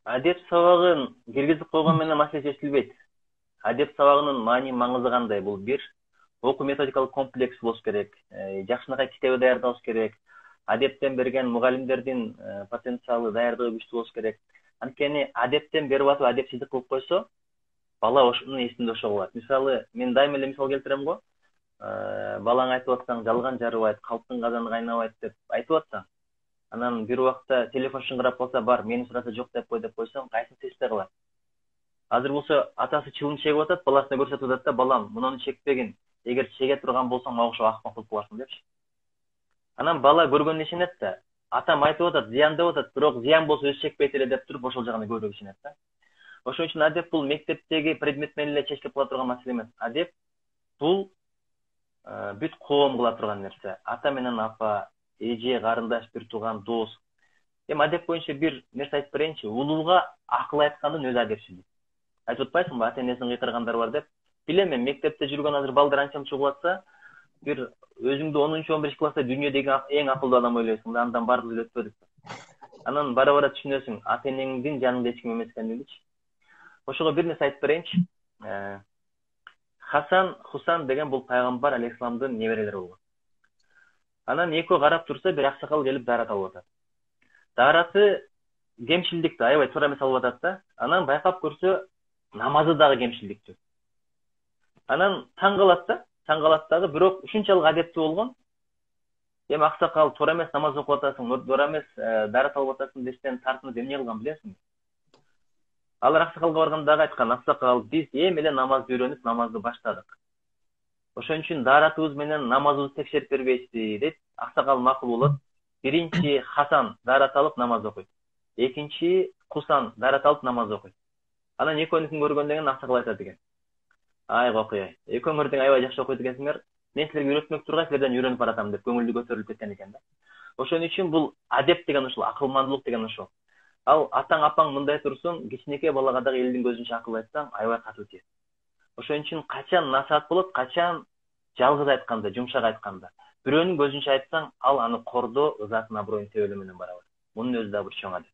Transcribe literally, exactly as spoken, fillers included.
Адеп сабагын киргизип койгон менен маселе чечилбейт. Адеп сабагынын маани маңызы кандай? Бул бир окуу методикалык комплекс болуш керек, жакшынакай китеби даярдабыз керек, адептен берген мугалимдердин потенциалы, даярдыгы күчтүү болуш керек. Анткени адептен берип атып адепсиздик кылып койсо, бала ошонун эсинде ошо калат. Мисалы, мен дайыма эле мисал келтирем го. Балаңа айтып атсаң, жалган жарыбайт, калктын казаны кайнабайт деп айтып атсаң, анан бир убакта телефон шыңгырап калса, бар, мени сураса жок деп кой деп койсоң, кайсысын эсте калат? Азыр болсо атасы чылым чегип атат, баласына көрсөтүп атат да, балам, мунуну чекпегин. Эгер чеге турган болсоң, мага окшоп акмак болуп каласың депчи. Анан бала көргөнүнө ишенет да. Атам айтып атат, зыян деп атат, бирок зыян болсо өзү чекпейт эле деп туруп ошол жагына көбүрөөк ишенет да. Ошон үчүн адеп бул мектептеги предмет менен эле чечилип кала турган маселе эмес. Адеп бул бүт коом кыла турган нерсе. Ата менен апа, эже, карындаш, бир тууган, дос. Эми адеп боюнча бир нерсе айтып берейинчи. Улууга акыл айткандын өзү адепсиздик. Айтып атпайсыңбы, ата энесин кыйкыргандар бар деп? Билем мен, мектепте жүргөн азыр балдар анча мынча угулатса, бир өзүңдү онунчу он биринчи класста дүйнөдөгү эң акылдуу адам ойлойсуң да, андан баардыгы эле өтпөдүк. Анан бара бара түшүнөсүң, ата энеңдин жанында эч ким эмес экендигичи. Ошого бир нерсе айтып берейинчи. Хасан, Хусан деген бул пайгамбар алейхисаламдын неберелери болгон. Анан экөө карап турса, бир аксакал келип даарат алып атат. Даараты кемчилдикти аябай туура эмес алып атат да. Анан байкап көрсө, намазы дагы кемчилдиктүү. Анан таң калат да, таң калат дагы, бирок ушунчалык адептүү болгон. Эми аксакал туура эмес намаз окуп атасың, туура эмес даарат алып атасың десен, тартынып эмне кылган билесиңби? Алар аксакалга барганда дагы айткан, аксакал, биз эми эле намазды үйрөнүп, намазды баштадык. Ошон үчүн дааратыбыз менен намазыбызды текшерип бербейсизби дейт. Аксакал макул болот. Биринчи Хасан даарат алып намаз окуйт. Экинчи Хусан даарат алып намаз окуйт. Анан экөөнүкүн көргөндөн кийин аксакал айтат экен. Ай кокуй, экөөңөр тең аябай жакшы окуйт экенсиңер. Мен силерге үйрөтмөк тургай, силерден үйрөнүп баратам деп көңүлдү көтөрүлүп кеткен экен да. Ошон үчүн бул адеп деген ушул, акылмандуулук деген ушул. Ал атаң апаң мындай турсун, кичинекей балага дагы элдин көзүнчө акыл айтсаң, аябай катуу тиет. Ошон үчүн качан насаат болот, качан жалгыз айтканда, жумшак айтканда. Бирөөнүн көзүнчө айтсаң, ал аны кордоо, ызасын аброюн тебелөө менен барабар. Мунун өзү да бир чоң адеп.